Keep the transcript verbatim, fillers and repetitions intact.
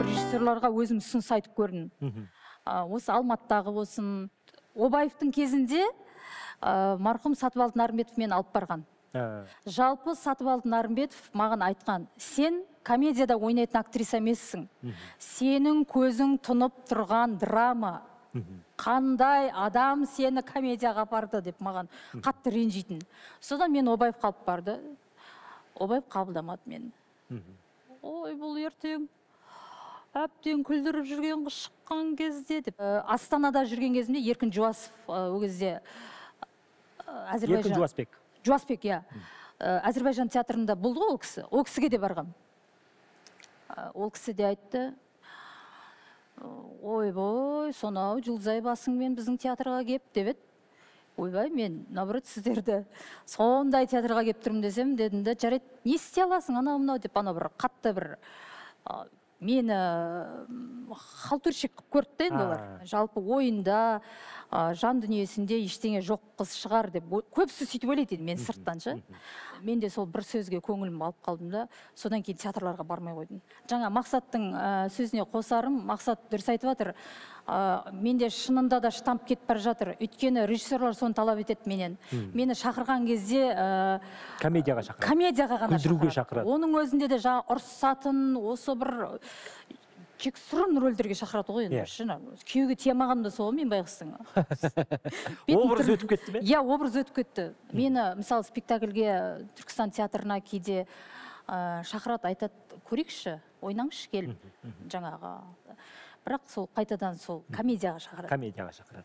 режиссерларға өзім ұсыныс айтып көрдім. Осы Алматыдағы болсын, Обаевтың кезінде марқұм Сатыбалды Нарымбетов мені алып барған. Жалпы Сатыбалды Нарымбетов маған айтқан: сен комедияда ойнайтын актриса емессің. Сенің көзің тұнып тұрған драма. Қандай адам сені комедияға апарды деп маған қатты ренжитін. Содан мен Обаев қалып барды. Обаев қабылдамады мені. Ой, бұл ертең әптен күлдіріп жүрген шыққан кезде деп. Астанада жүрген кезімде Еркін Жуасов ол кезде Әзірбайжан. Еркін Жуасбек. Жуасбек, иә. Әзірбайжан театрында болды ғой ол кісі. Ол кісіге де барғам. Ол кісі де айтты: ойбой, сонау Жұлдызай басыңмен біздің театрға кеп деп еді. Ойбай, мен наоборот сіздерді сондай театрға кеп тұрмын десем, дедім де, жарайды, не істей аласың анау мынау деп, ана бір қатты бір мені халтурщик қылып көрді енді олар. Жалпы ойында, жан дүниесінде ештеңе жоқ қыз шығар деп көбісі сөйтіп ойлайды еді, мен сырттан ше. Мен де сол бір сөзге көңілім алып қалдым да, содан кейін театрларға бармай қойдым. Жаңа Мақсаттың сөзіне қосарым, Мақсат дұрыс айтып жатыр. Менде шынында да штамп кетіп бара жатыр. Өйткені режиссерлар соны талап етеді менен. Мені шақырған кезде комедияға шақырады. Комедияға ғана күлдіруге шақырады. Оның өзінде де жаңа ұрсатын, осы бір кексұрын рөлдерге шақырады ғой енді. Күйеуге тиямаған да сол, мен байғыстың. Образ өтіп кетті ме? Иә, образ өтіп кетті. Мені, мысалы, спектакльге Түркістан театрына кейде шақырады, айтады: көрейікші, ойнаңызшы келіп жаңағы. Бірақ сол қайтадан сол комедияға шақырады. Комедияға шақырады.